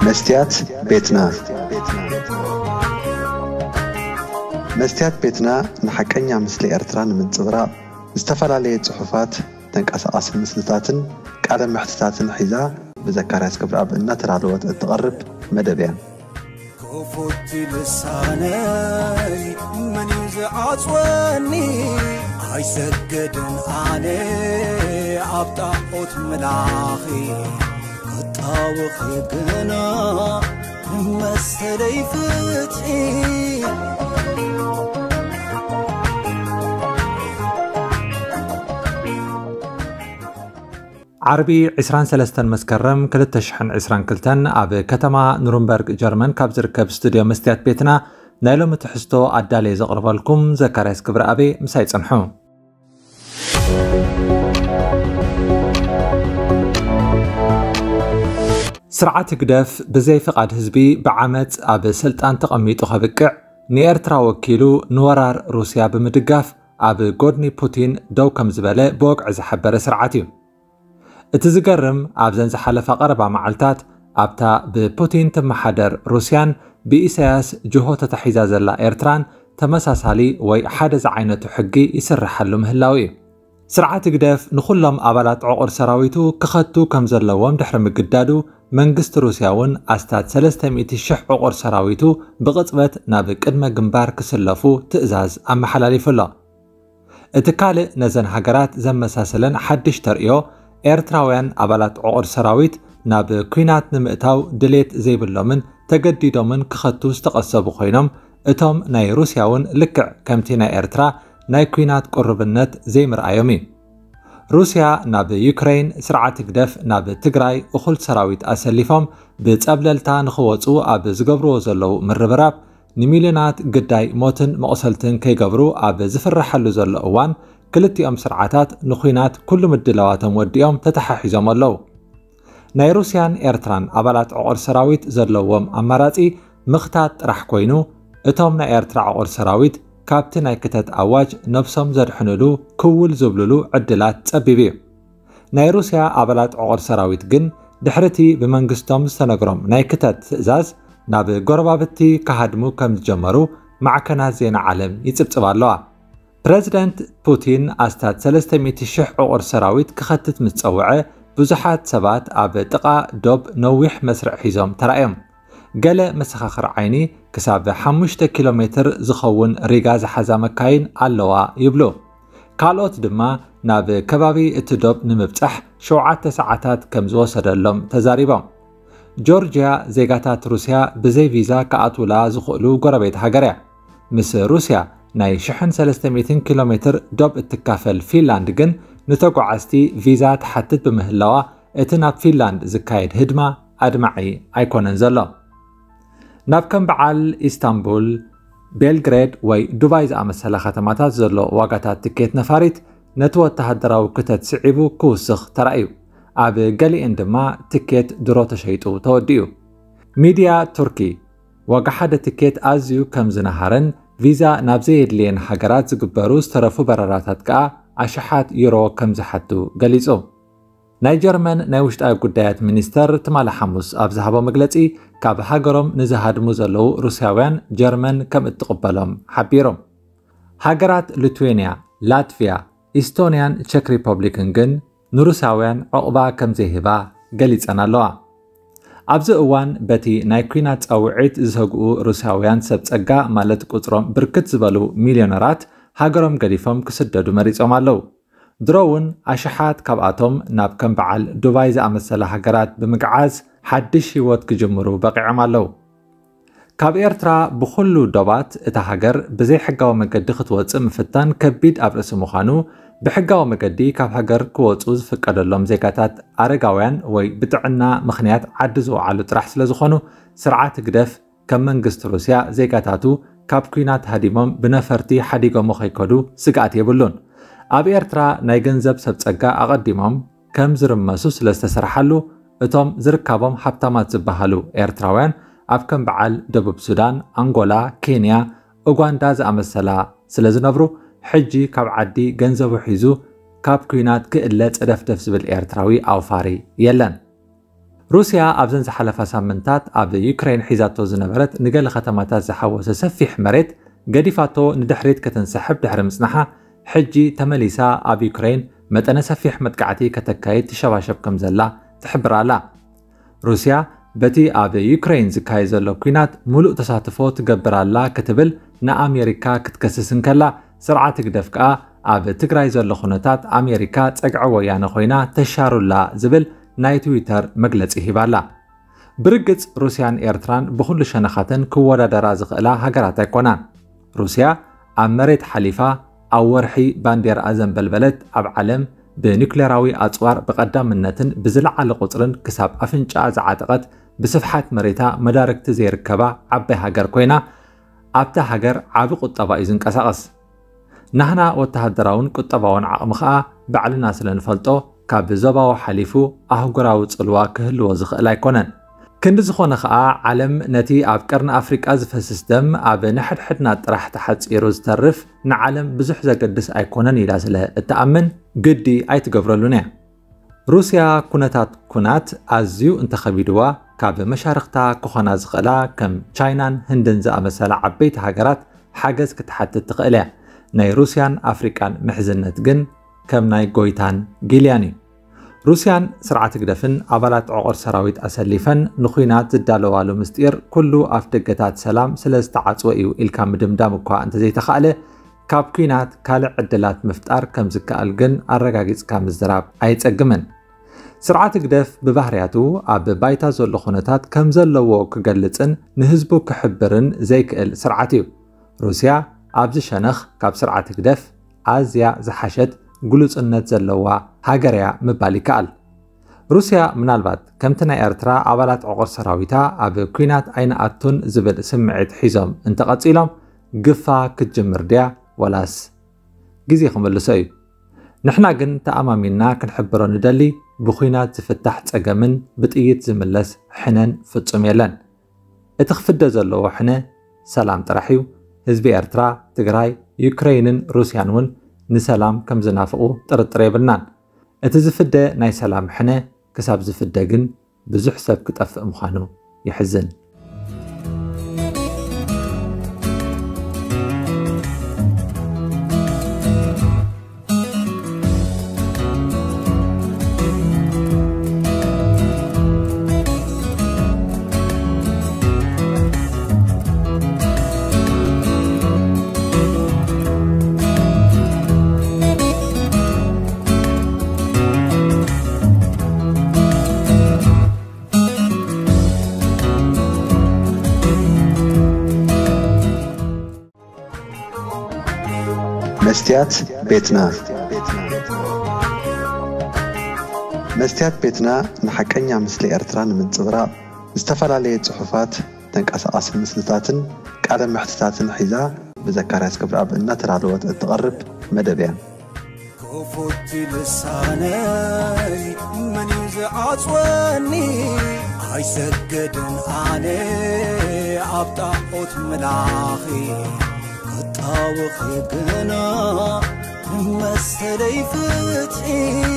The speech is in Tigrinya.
መስትያት ቤትና። መስትያት ቤትና ንሓቀኛ ምስሊ ኤርትራ ንምንጽብራቕ ዝተፈላለየ ጽሑፋት፣ ተንቀሳቓሲ ምስልታትን ቃለ መሕትታትን ሒዛ ብዘካርያስ ክብረኣብ እናተዳለወት እትቐርብ መደብ እያ። ክፉት ልሳነይ መን እዩ ዝዓጽወኒ? ኣይሰግድን ኣነ ኣብ ጣዖት ምላኺ፣ ክጣወኺ ግና መሰለይ ፍትሒ። ዓርቢ ዕስራን ሰለስተን መስከረም ክልተ ሽሕን ዕስራን ክልተን ኣብ ከተማ ኑርንበርግ ጀርመን ካብ ዝርከብ ስቱድዮ መስትያት ቤትና ናይ ሎሚ ትሕዝቶ ኣዳልየ ዘቕርበልኩም ዘካርያስ ክብረኣቤ። ምሳይ ጽንሑ። ስርዓት ህግደፍ ብዘይ ፍቓድ ህዝቢ ብዓመጽ ኣብ ስልጣን ተቐሚጡ ከብቅዕ፣ ንኤርትራ ወኪሉ ንወራር ሩስያ ብምድጋፍ ኣብ ጎድኒ ፑቲን ደው ከም ዝበለ ብወግዒ ዝሓበረ ስርዓት እዩ። እቲ ዝገርም፣ ኣብዘን ዝሓለፋ ቀረባ መዓልታት ኣብታ ብፑቲን ትመሓደር ሩስያን ብኢሳያስ ጅሆ ተታሒዛ ዘላ ኤርትራን ተመሳሳሊ ወይ ሓደ ዝዓይነቱ ሕጊ ይስርሓሉ ምህላው እዩ። ስርዓት ህግደፍ ንኹሎም ኣባላት ዕቑር ሰራዊቱ ክኸቱ ከም ዘለዎም ድሕሪ ምግዳዱ፣ መንግስቲ ሩስያ እውን ኣስታት ሰለስተ ሚእቲ ሽሕ ዕቑር ሰራዊቱ ብቕጽበት ናብ ቅድመ ግንባር ክስለፉ ትእዛዝ ኣመሓላሊፉ ኣሎ። እቲ ካልእ ነዘን ሃገራት ዘመሳሰለን ሓድሽ ተርእዮ፣ ኤርትራውያን ኣባላት ዕቑር ሰራዊት ናብ ኲናት ንምእታው ድሌት ዘይብሎምን ተገዲዶምን ክኸቱ ዝተቐሰቡ ኮይኖም፣ እቶም ናይ ሩስያ እውን ልክዕ ከምቲ ናይ ኤርትራ ናይ ኲናት ቅሩብነት ዘይምርኣዮም እዩ። ሩስያ ናብ ዩክረይን፣ ስርዓት ህግደፍ ናብ ትግራይ እኹል ሰራዊት ኣሰሊፎም ብጸብለልታ ንኽወጹ ኣብ ዝገብርዎ ዘለዉ ምርብራብ፣ ንሚልዮናት ግዳይ ሞትን መቑሰልትን ከይገብሩ ኣብ ዝፍረሓሉ ዘሎ እዋን፣ ክልቲኦም ስርዓታት ንኲናት ኩሉ ምድላዋቶም ወዲኦም ተተሓሒዞም ኣለዉ። ናይ ሩስያን ኤርትራን ኣባላት ዕቑር ሰራዊት ዘለዎም ኣማራጺ ምኽታት ጥራሕ ኮይኑ፣ እቶም ናይ ኤርትራ ዕቑር ሰራዊት ካብቲ ናይ ክተት ኣዋጅ ነብሶም ዘድሕንሉ ክውል ዝብልሉ ዕድላት ጸቢብ እዩ። ናይ ሩስያ ኣባላት ዕቑር ሰራዊት ግን ድሕሪቲ ብመንግስቶም ዝተነግሮም ናይ ክተት ትእዛዝ ናብ ጎረባብቲ ክሃድሙ ከም ዝጀመሩ ማዕከናት ዜና ዓለም ይጽብጽባ ኣለዋ። ፕረዚደንት ፑቲን ኣስታት ሰለስተ ሚእቲ ሽሕ ዕቑር ሰራዊት ክኸትት ምስ ጸውዐ፣ ብዙሓት ሰባት ኣብ ጥቓ ዶብ ነዊሕ መስርዕ ሒዞም ተራእዮም። ገለ መሰኻኽር ዓይኒ ክሳብ ሓሙሽተ ኪሎ ሜትር ዝኸውን ሪጋ ዝሓዛ መካይን ኣለዋ ይብሉ። ካልኦት ድማ ናብ ከባቢ እቲ ዶብ ንምብጻሕ ሸውዓተ ሰዓታት ከም ዝወሰደሎም ተዛሪቦም። ጆርጅያ ዜጋታት ሩስያ ብዘይ ቪዛ ክኣትውላ ዝኽእሉ ጎረቤት ሃገር እያ። ምስ ሩስያ ናይ ሽሕን ሰለስተ ሚእትን ኪሎ ሜትር ዶብ እትካፈል ፊንላንድ ግን ንተጓዓዝቲ ቪዛ ትሓትት ብምህላዋ፣ እቲ ናብ ፊንላንድ ዝካየድ ህድማ ኣድማዒ ኣይኮነን ዘሎ። ናብ ከም በዓል ኢስታንቡል፣ ቤልግሬድ ወይ ዱባይ ዝኣመሰላ ከተማታት ዘሎ ዋጋታት ትኬት ነፋሪት ነቲ ወተሃደራዊ ክተት ስዒቡ ክውስኽ ተራእዩ። ኣብ ገሊኤን ድማ ትኬት ድሮ ተሸይጡ ተወዲኡ። ሚድያ ቱርኪ ዋጋ ሓደ ትኬት ኣዝዩ ከም ዝነሃረን ቪዛ ናብ ዘየድልየን ሃገራት ዝግበሩ ዝተረፉ በረራታት ከኣ ኣሽሓት ዩሮ ከም ዝሓቱ ገሊጹ። ናይ ጀርመን ናይ ውሽጣዊ ጉዳያት ሚኒስተር ትማሊ ሓሙስ ኣብ ዝሃቦ መግለጺ፣ ካብ ሃገሮም ንዝሃድሙ ዘለዉ ሩስያውያን ጀርመን ከም እትቕበሎም ሓቢሩ። ሃገራት ሊትዌንያ፣ ላትቪያ፣ ኢስቶንያን ቸክ ሪፐብሊክን ግን ንሩስያውያን ዑቕባ ከም ዘይህባ ገሊጸን ኣለዋ። ኣብዚ እዋን በቲ ናይ ኲናት ጻውዒት ዝሰግኡ ሩስያውያን ሰብ ጸጋ፣ ማለት ቁጽሮም ብርክት ዝበሉ ሚልዮነራት፣ ሃገሮም ገዲፎም ክስደዱ መሪጾም ኣለዉ። ድሮ እውን ኣሽሓት ካብኣቶም ናብ ከም በዓል ዱባይ ዝኣመሰላ ሃገራት ብምግዓዝ ሓድሽ ህይወት ክጅምሩ በቒዖም ኣለዉ። ካብ ኤርትራ ብኹሉ ዶባት እታ ሃገር ብዘይሕጋዊ መገዲ ክትወጽእ ምፍታን ከቢድ ኣብ ርእሲ ምዃኑ፣ ብሕጋዊ መገዲ ካብ ሃገር ክወጹ ዝፍቀደሎም ዜጋታት ኣረጋውያን ወይ ብጥዕና ምኽንያት ዓዲ ዝወዓሉ ጥራሕ ስለ ዝኾኑ፣ ስርዓት ህግደፍ ከም መንግስቲ ሩስያ ዜጋታቱ ካብ ኲናት ሃዲሞም ብነፈርቲ ሓዲጎሞ ከይከዱ ስግኣት የብሉን። ኣብ ኤርትራ ናይ ገንዘብ ሰብ ጸጋ ኣቐዲሞም ከም ዝርመሱ ስለ ዝተሰርሓሉ፣ እቶም ዝርካቦም ሃብታማት ዝበሃሉ ኤርትራውያን ኣብ ከም በዓል ደቡብ ሱዳን፣ ኣንጎላ፣ ኬንያ፣ ኡጋንዳ ዝኣመሰላ ስለ ዝነብሩ፣ ሕጂ ካብ ዓዲ ገንዘቡ ሒዙ ካብ ኲናት ክእለ ጸደፍደፍ ዝብል ኤርትራዊ ኣውፋሪ የለን። ሩስያ ኣብዘን ዝሓለፋ ሳምንታት ኣብ ዩክሬን ሒዛቶ ዝነበረት ንገለ ከተማታት ዝሓወሰ ሰፊሕ መሬት ገዲፋቶ ንድሕሪት ከተንሰሕብ ድሕሪ ምጽናሓ፣ ሕጂ ተመሊሳ ኣብ ዩክሬን መጠነ ሰፊሕ መጥቃዕቲ ከተካይድ ትሸባሸብ ከም ዘላ ትሕብር ኣላ። ሩስያ በቲ ኣብ ዩክሬን ዝካየድ ዘሎ ኲናት ምሉእ ተሳትፎ ትገብር ኣላ ክትብል ንኣሜሪካ ክትከስስ እንከላ፣ ስርዓት ህግደፍ ከኣ ኣብ ትግራይ ዘሎ ኩነታት ኣሜሪካ ጸግዒ ወያነ ኮይና ተሻሩላ ዝብል ናይ ትዊተር መግለጺ ሂባላ። ብርግጽ ሩስያን ኤርትራን ብኹሉ ሸነኻተን ክወዳደራ ዝኽእላ ሃገራት ኣይኮናን። ሩስያ ኣብ መሬት ሓሊፋ ኣብ ወርሒ ባንዴርኣ ዘንበልበለት፣ ኣብ ዓለም ብኒኩሌራዊ ኣጽዋር ብቐዳምነትን ብዝለዓለ ቁጽርን ክሳብ ኣፍንጫኣ ዝዓጠቐት፣ ብስፍሓት መሬታ መዳርግቲ ዘይርከባ ዓባይ ሃገር ኮይና፣ ኣብታ ሃገር ዓቢ ቁጠባ እዩ ዝንቀሳቐስ። ናህና ወተሃደራውን ቁጠባውን ዓቕሚ ኸኣ ባዕልና ስለ ንፈልጦ፣ ካብ ዞባዊ ሓሊፉ ኣህጉራዊ ጽልዋ ክህልዎ ዝኽእል ኣይኮነን። ክንዲ ዝኾነ ኸኣ፣ ዓለም ነቲ ኣብ ቀርኒ ኣፍሪቃ ዝፈስስ ደም ኣብ ነሕድሕድና ጥራሕ ተሓጺሩ ዝተርፍ፣ ንዓለም ብዙሕ ዘገድስ ኣይኮነን ኢላ ስለ እትኣምን፣ ግዲ ኣይትገብረሉን እያ። ሩስያ ኩነታት ኩናት ኣዝዩ እንተኸቢድዋ፣ ካብ መሻርኽታ ክኾና ዝኽእላ ከም ቻይናን ህንድን ዝኣመሰላ ዓበይቲ ሃገራት ሓገዝ ክትሓትት ትኽእል እያ። ናይ ሩስያን ኣፍሪቃን ምሕዝነት ግን ከም ናይ ጎይታን ጊልያን እዩ። ሩስያን ስርዓት ህግደፍን ኣባላት ዕቑር ሰራዊት ኣሰሊፈን ንኹናት ዝዳለዋሉ ምስጢር ኩሉ ኣፍ ደገታት ሰላም ስለ ዝተዓጽወ እዩ ኢልካ ምድምዳም እኳ እንተዘይተኻእለ፣ ካብ ኲናት ካልእ ዕድላት ምፍጣር ከም ዝከኣል ግን ኣረጋጊጽካ ምዝራብ ኣየጸግምን። ስርዓት ህግደፍ ብባህርያቱ ኣብ ባይታ ዘሎ ኩነታት ከም ዘለዎ ክገልጽን ንህዝቡ ክሕብርን ዘይክእል ስርዓት እዩ። ሩስያ ኣብዚ ሸነኽ ካብ ስርዓት ህግደፍ ኣዝያ ዝሓሸት ግሉጽነት ዘለዋ ሃገር እያ ምባል ይከኣል። ሩስያ ምናልባት ከምቲ ናይ ኤርትራ ኣባላት ዕቑር ሰራዊታ ኣብ ኲናት ኣይንኣቱን ዝብል ስምዒት ሒዞም እንተቐጺሎም፣ ግፋ ክትጅምር ድያ ወላስ ግዜ ክምልሶ እዩ? ንሕና ግን ተኣማሚንና ክንሕብሮ ንደሊ፣ ብኲናት ዝፍታሕ ጸገምን ብጥይት ዝምለስ ሕነን ፍጹም የለን። እቲ ክፍደ ዘለዎ ሕነ ሰላም ጥራሕ እዩ። ህዝቢ ኤርትራ፣ ትግራይ፣ ዩክረይንን ሩስያን እውን ንሰላም ከም ዝናፍቑ ጥርጥር የብልናን። እቲ ዝፍደ ናይ ሰላም ሕነ ክሳብ ዝፍደ ግን ብዙሕ ሰብ ክጠፍእ ምዃኑ የሕዝን። መስትያት ቤትና። መስትያት ቤትና ንሓቀኛ ምስሊ ኤርትራ ንምንጽብራቕ፣ ዝተፈላለየ ጽሑፋት፣ ተንቀሳቓሲ ምስልታትን ቃለ መሕትታትን ሒዛ ብዘካርያስ ገብረኣብ እናተዳለወት እትቐርብ መደብ እያ። ክፉት ልሳነይ መን እዩ ዝዓጽወኒ? ኣይሰግድን ኣነ ኣብ ጣዖት ምላኺ፣ ክጣወኺ ግና መሰለይ ፍትሒ።